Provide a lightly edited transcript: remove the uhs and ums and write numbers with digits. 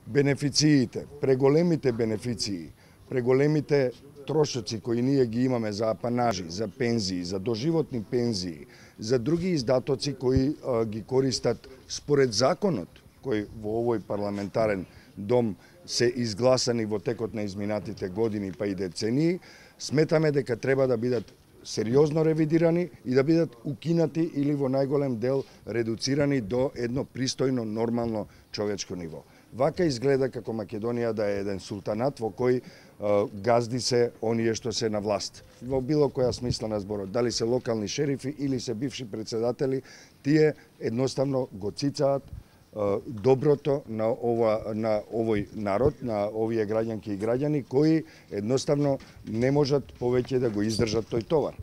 бенефициите, преголемите бенефиции, преголемите трошоци кои ние ги имаме за апанажи, за пензии, за доживотни пензии, за други издатоци кои ги користат според законот, кој во овој парламентарен дом се изгласани во текот на изминатите години па и децении, сметаме дека треба да бидат сериозно ревидирани и да бидат укинати или во најголем дел редуцирани до едно пристојно, нормално човечко ниво. Вака изгледа како Македонија да е еден султанат во кој газди се оние што се на власт. Во било која смисла на зборот, дали се локални шерифи или се бивши председатели, тие едноставно го цицаат доброто на овој народ, на овие граѓанки и граѓани кои едноставно не можат повеќе да го издржат тој товар.